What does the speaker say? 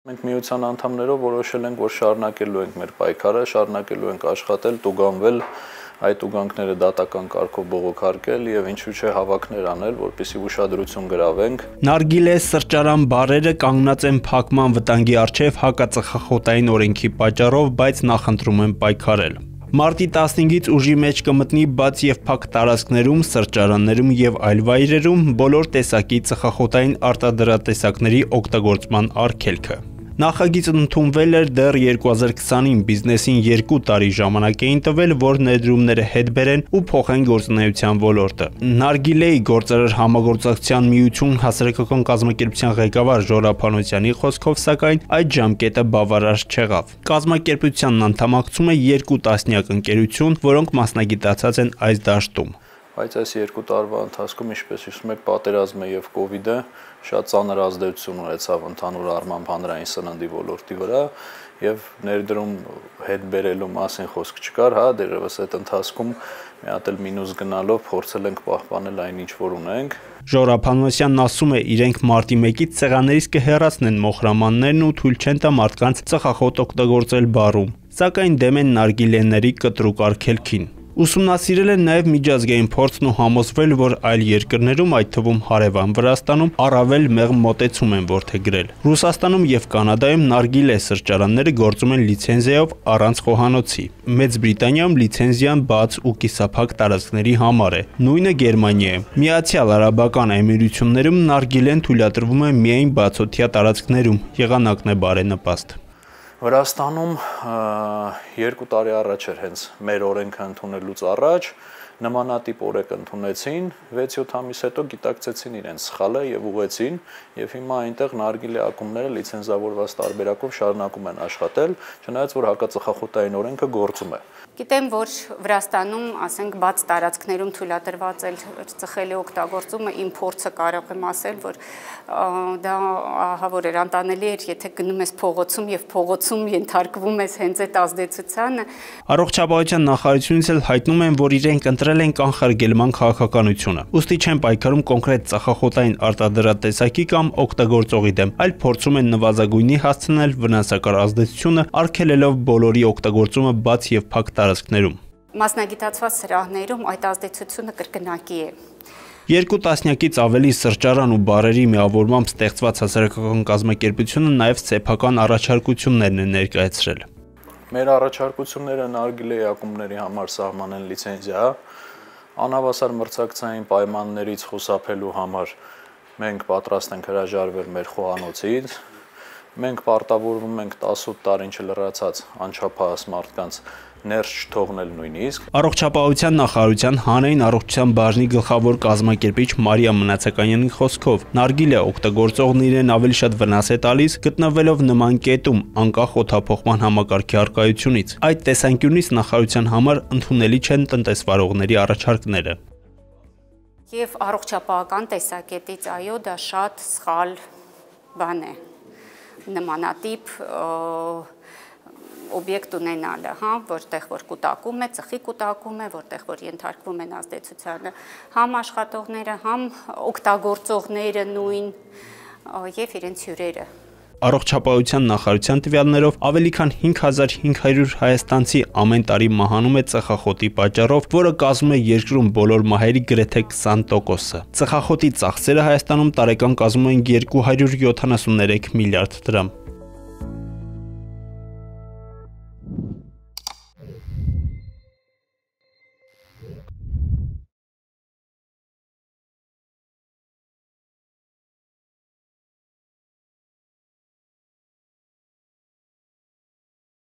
Մենք միության անդամներով որոշել ենք, որ շարունակելու ենք մեր պայքարը, շարունակելու ենք աշխատել, տուգանվել, այդ ուղանքները դատական կարգով բողոքարկել եւ ինչու՞ չէ հավաքներ անել, որպեսզի ուշադրություն գրավենք։ Նարգիլե սրճարան բարերը կանգնած են փակման վտանգի առջև հակածխախոտային օրենքի պատճառով, բայց նախընտրում են պայքարել։ Մարտի 15-ից ուժի մեջ կմտնի բաց եւ փակ տարածքներում, սրճարաններում եւ այլ վայրերում բոլոր տեսակի ծխախոտային արտադրատեսակների օգտագործման արգելքը։ Նախագիծն ընդունվել էր դեռ 2020-ին, բիզնեսին 2 տարի ժամանակ էին տվել, որ ներդրումները հետ բերեն ու փոխեն գործունեության ոլորտը։ Նարգիլեի գործարար համագործակցության միություն հասարակական կազմակերպության ղեկավար Ժորա Փանոսյանի խոսքով, սակայն այդ ժամկետը բավարար չեղավ։ Կազմակերպությանն անդամակցում է 2 տասնյակ ընկերություն, որոնք մասնագիտացած են այս դաշտում։ Բայց այս 2 տարվա ընթացքում, ինչպես հիշում եք, պատերազմը եւ կոവിഡ്ը շատ ծանր ազդեցություն ունեցավ ընդհանուր առմամբ հանրային սննդի ոլորտի վրա եւ ներդրում հետ բերելու մասին խոսք չկար, դերևս այդ ընթացքում մի հատ էլ մինուս գնալով փորձել ենք պահպանել այն ինչ որ ունենք։ Ժորա Փանոսյանն ասում է, իրենք մարտի 1-ից սեղաններից կհեռացնեն մոխրամաններն ու թույլ չեն տա մարդկանց ծխախոտ օգտագործել բարում, սակայն դեմ են նարգիլեների կտրուկ արգելքին։ Ուսումնասիրել են նաև միջազգային փորձն ու համոզվել, որ այլ երկրներում, այդ թվում հարևան Վրաստանում, առավել մեղմ մոտեցում են որդեգրել։ Ռուսաստանում եւ Կանադայում նարգիլե սրճարանները գործում են լիցենզիայով առանց խոհանոցի։ Մեծ Բրիտանիայում լիցենզիան բաց ու կիսափակ տարածքների համար է։ Նույնը Գերմանիայում։ Միացյալ Արաբական Էմիրություններում նարգիլեն թույլատրվում է միայն բացօթյա տարածքներում։ Եղանակն է բարենպաստ։ Վրաստանում 2 տարի առաջ էր հենց մեր օրենքը ընդունելուց առաջ նմանատիպ օրենք ընդունեցին, 6-7 ամիս հետո գիտակցեցին իրենց սխալը եւ ուղեցին եւ հիմա այնտեղ նարգիլե ակումբները լիցենզավորված տարբերակով շարունակում են աշխատել, չնայած որ հակածխախոտային օրենքը գործում է։ Գիտեմ, որ Վրաստանում, ասենք, բաց տարածքներում թույլատրված է ծխելի օգտագործումը, իմ փորձը կարող եմ ասել, որ դա ահավոր էր անտանելի էր, եթե գնում ես փողոցում եւ փողոցում ենթարկվում ես հենց այդ ազդեցությանը։ Առողջապահության նախարարությունից էլ հայտնում են, որ իրենք ընտրել են կանխարգելման քաղաքականությունը։ Ուստի չեն պայքարում կոնկրետ ծխախոտային արտադրատեսակի կամ օգտագործողի դեմ, այլ փորձում են նվազագույնի հասցնել վնասակար ազդեցությունը, արգելելով բոլորի օգտագործումը բաց եւ փակ տարածքներում։ Մասնագիտացված սրահներում այդ ազդեցությունը կրկնակի է։ 2 տասնյակից ավելի սրճարան ու բարերի միավորմամբ ստեղծված հասարակական կազմակերպությունը նաև սեփական առաջարկություններն է ներկայացրել։ Մեր առաջարկությունները նարգիլեի ակումբների համար սահմանեն լիցենզիա, անհավասար մրցակցային պայմաններից խուսափելու համար մենք պատրաստ ենք հրաժարվել մեր խոհանոցից, մենք պարտավորվում ենք 18 տարին չլրացած անչափահաս մարդկանց ներս չթողնել նույնիսկ։ Առողջապահության նախարարության հանրային առողջության բաժնի գլխավոր կազմակերպիչ Մարիա Մնացականյանի խոսքով, նարգիլե օգտագործողն իրեն ավելի շատ վնաս է տալիս, գտնվելով նման կետում, անկախ օդափոխման համակարգի առկայությունից։ Այդ տեսանկյունից նախարարության համար ընդունելի չեն տնտեսվարողների առաջարկները։ Եվ առողջապահական տեսակետից, այո, դա շատ սխալ բան է։ Նմանատիպ օբյեկտ ունենալը, որտեղ որ կուտակում է, ծխի կուտակում է, որտեղ որ ենթարկվում են ազդեցությանը համ աշխատողները, համ օգտագործողները նույն եւ իրենց հյուրերը։ Առողջապահության նախարարության տվյալներով ավելի քան 5500 հայաստանցի ամեն տարի մահանում է ծխախոտի պատճառով, որը կազմում է երկրում բոլոր մահերի գրեթե 20%-ը։ Ծխախոտի ծախսերը Հայաստանում տարեկան կազմում են 273 միլիարդ դրամ։